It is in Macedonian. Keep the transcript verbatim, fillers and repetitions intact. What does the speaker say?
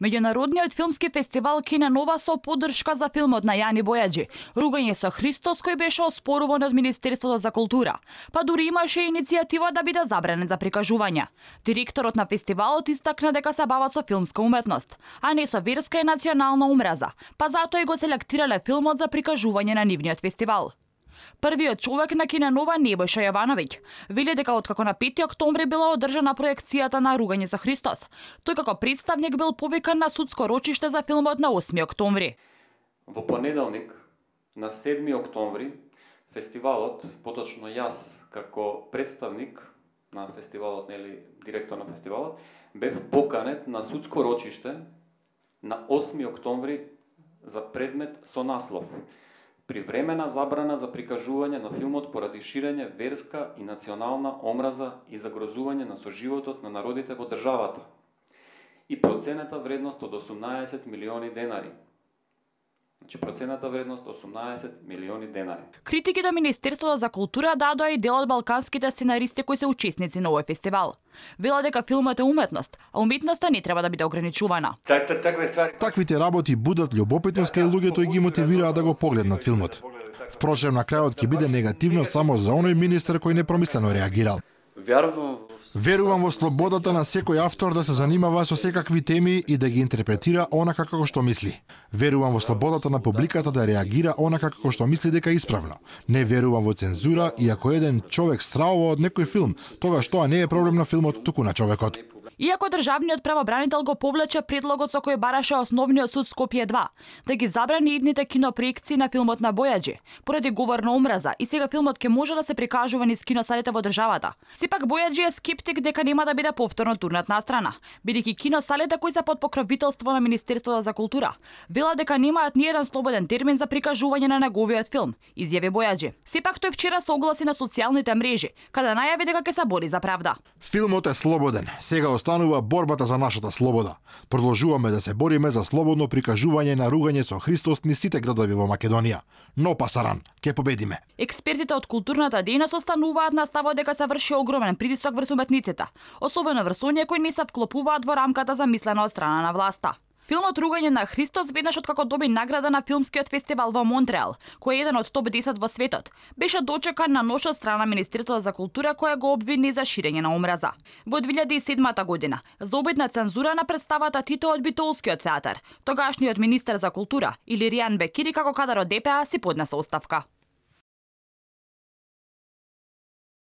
Меѓународниот филмски фестивал Кина Нова со поддршка за филмот на Јани Бојаджи "Ругање со Христос", кој беше оспоруван од Министерството за култура, па дури имаше иницијатива да биде забранет за прикажување. Директорот на фестивалот истакна дека се бават со филмска уметност, а не со верска и национална омраза, па затоа и го селектирале филмот за прикажување на нивниот фестивал. Првиот човек на Кина Нова, Небојша Јовановиќ, вели дека откако на пети октомври била одржана проекцијата на "Ругање со Христос", тој како представник бил повикан на судско рочиште за филмот на осми октомври. Во понеделник, на седми октомври, фестивалот, поточно јас како представник на фестивалот, нели директор на фестивалот, бев поканет на судско рочиште на осми октомври за предмет со наслов "Привремена забрана за прикажување на филмот поради ширење верска и национална омраза и загрозување на соживотот на народите во државата" и процената вредност од осумнаесет милиони денари. Значи процената вредност осумнаесет милиони денари. Критики до Министерството за култура дадоа и дел од балканските сценаристи кои се учесници на овој фестивал. Вела дека филмот е уметност, а уметноста не треба да биде ограничувана. Таквите работи будат љубопитност кај луѓето и ги мотивираат да го погледнат филмот. Впрочем, на крајот ќе биде негативно само за оној министер кој непромислено реагирал. Верувам во слободата на секој автор да се занимава со секакви теми и да ги интерпретира онака како што мисли. Верувам во слободата на публиката да реагира онака како што мисли дека е исправно. Не верувам во цензура и ако еден човек стравува од некој филм, тогаш тоа не е проблем на филмот, туку на човекот. Иако државниот правобранител го повлече предлогот со кој бараше Основниот суд Скопје два да ги забрани идните кинопроекции на филмот на Бојаджи поради говор на омраза и сега филмот ќе може да се прикажува низ киносалите во државата. Сепак Бојаджи е скептик дека нема да биде повторно турнат настрана, бидејќи киносалите кои се под покровителство на Министерството за култура велат дека немаат ни еден слободен термин за прикажување на неговиот филм, изјави Бојаджи. Сепак тој вчера се огласи на социјалните мрежи, каде најави дека ќе се бори за правда. Филмот е слободен. Сега останува борбата за нашата слобода. Продолжуваме да се бориме за слободно прикажување на "Ругање со Христос" низ сите градови во Македонија. Но пасаран, ќе победиме. Експертите од културната дејност остануваат на ставот дека се врши огромен притисок врз уметниците, особено врз оние кои не се вклопуваат во рамката замислена од страна на власта. Филмот "Ругање на Христос", веднаш откако доби награда на филмскиот фестивал во Монтреал, кој е еден од топ десет во светот, беше дочекан на нош од страна Министерството за култура која го обвини за ширење на омраза. Во две илјади и седма година, за обид на цензура на представата Тито од Битолскиот театар, тогашниот министер за култура Илиријан Бекири како кадар од Д П А си поднесе оставка.